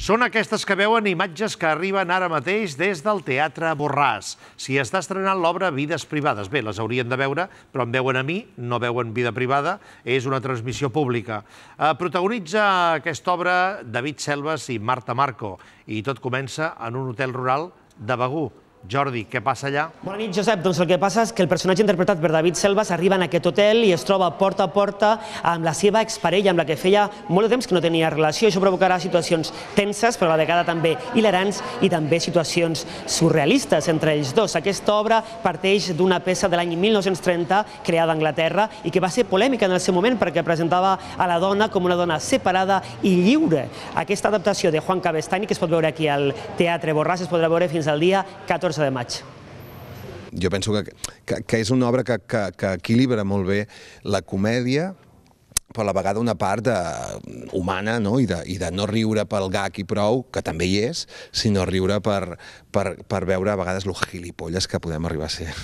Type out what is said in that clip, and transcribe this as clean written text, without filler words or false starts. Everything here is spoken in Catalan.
Són aquestes que veuen imatges que arriben ara mateix des del Teatre Borràs. S'hi està estrenant l'obra Vides privades. Bé, les haurien de veure, però em veuen a mi, no veuen Vida privada. És una transmissió pública. Protagonitza aquesta obra David Selves i Marta Marco. I tot comença en un hotel rural de Begur. Jordi, què passa allà? Bona nit, Josep. Doncs el que passa és que el personatge interpretat per David Selves arriba en aquest hotel i es troba porta a porta amb la seva exparella, amb la que feia molt de temps que no tenia relació. Això provocarà situacions tenses, però a la vegada també hilarants i també situacions surrealistes entre ells dos. Aquesta obra parteix d'una peça de l'any 1930 creada a Anglaterra i que va ser polèmica en el seu moment perquè presentava a la dona com una dona separada i lliure. Aquesta adaptació de Juan Cabestany, que es pot veure aquí al Teatre Borràs, es podrà veure fins al dia 14 de maig. Jo penso que és una obra que equilibra molt bé la comèdia, però a la vegada una part humana i de no riure pel gag i prou, que també hi és, sinó riure per veure a vegades lo gilipolles que podem arribar a ser.